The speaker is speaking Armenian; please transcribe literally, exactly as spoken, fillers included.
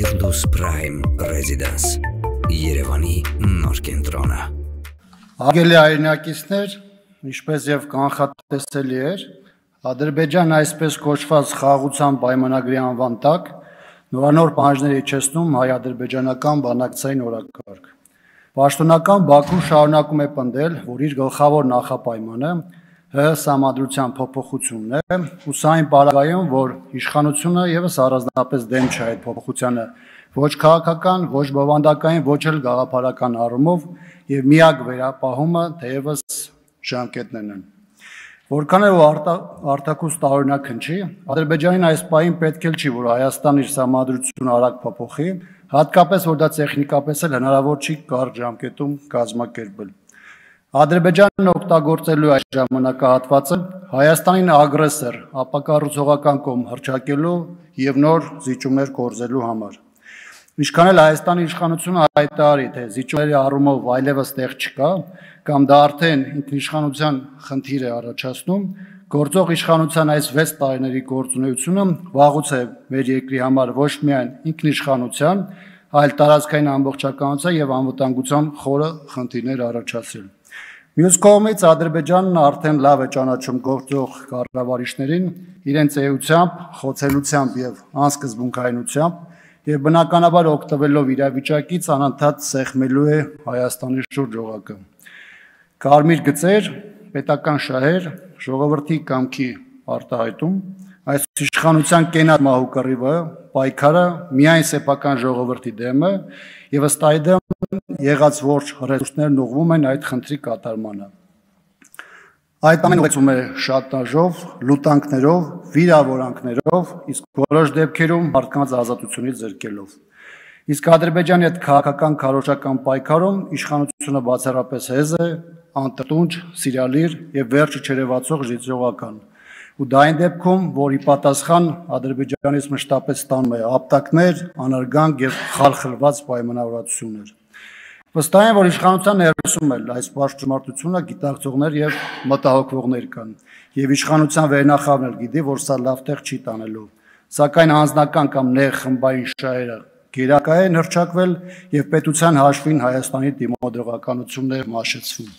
Firdaus Prime Residence Երևանի նոր կենտրոնը։ Արգելի հայրենակիցներ, ինչպես եւ կանխատեսելի էր, Ադրբեջանն այսպես կոչված խաղաղության պայմանագրի անվան տակ նորանոր պահանջներ իջեցնում հայ-ադրբեջանական բանակցային օրակարգ։ Պաշտոնական Բաքուն շարունակում է պնդել, որ իր գլխավոր նախապայմանը ՀՀ սահմանադրության փոփոխությունն է, ու սա այն պարագայում, որ իշխանությունը եւս առանձնապես դեմ չէ այդ փոփոխությանը, ոչ քաղաքական, ոչ բովանդակային, ոչ էլ գաղափարական առումով, եւ միակ վերապահումը թեևս ժամկետներն են։ Որքան էլ արտաքուստ տարօրինակ հնչի, Ադրբեջանին այս պահին պետք էլ չի, որ Հայաստանը իր սահմանադրությունը արագ փոփոխի, հատկապես որ դա տեխնիկապես էլ հնարավոր չի կարճ ժամկետում կազմակերպել։ Ադրբեջանն օգտագործելու այս ժամանակահատվածը Հայաստանին ագրեսոր, ապակառուցողական կողմ հռչակելու եւ նոր զիջումներ կորզելու համար։ Ինչքան էլ Հայաստանի իշխանությունը հայտարարի, թե զիջումների առումով այլևս տեղ չկա, կամ դա արդեն ինքնիշխանության խնդիր է առաջացնում, գործող իշխանության այս վեց տարիների գործունեությունը վաղուց է մեր երկրի համար ոչ միայն ինքնիշխանության, այլ տարածքային ամբողջականության եւ անվտանգության խորը խնդիրներ առաջացրել։ Մյուս կողմից Ադրբեջանն արդեն լավ է ճանաչում գործող կառավարիչներին իրենց էությամբ, խոցելությամբ եւ անսկզբունքայնությամբ եւ բնականաբար օգտվելով իրավիճակից անընդհատ սեղմելու է Հայաստանի շուրջ օղակը։ Կարմիր գծեր, պետական շահեր, ժողովրդի կամքի արտահայտում, այս իշխանության կենատ մահու կռիվը, պայքարը միայն սեփական ժողովրդի դեմ է եւ ըստ այդմ եղած ողջ ռեսուրսներն ուղղվում են այդ խնդրի կատարմանը։ Այդ ամենը ուղեկցվում է շանտաժով, լուտանքներով, վիրավորանքներով, իսկ որոշ դեպքերում մարդկանց ազատությունից զրկելով։ Իսկ Ադրբեջանի հետ քաղաքական քարոզչական պայքարում իշխանությունը բացառապես հեզ է, անտտունջ, սիրալիր եւ վերջը չերևացող ժիծողական։ Ու դա այն դեպքում, որ ի պատասխան Ադրբեջանից մշտապես ստանում է ապտակներ, անարգանք եւ խալխլված պայմանավորվածություններ։ Վստահ եմ, որ իշխանության ներսում էլ այս պաշտոնատվությունը գիտակցողներ եւ մտահոգվողներ կան, եւ իշխանության վերնախավն էլ գիտի, որ սա լավ տեղ չի տանելու։ Սակայն անձնական կամ նեղ խմբային շահերը գերակա են հռչակվել եւ պետության հաշվին Հայաստանի դիմադրողականությունն է մաշեցվում։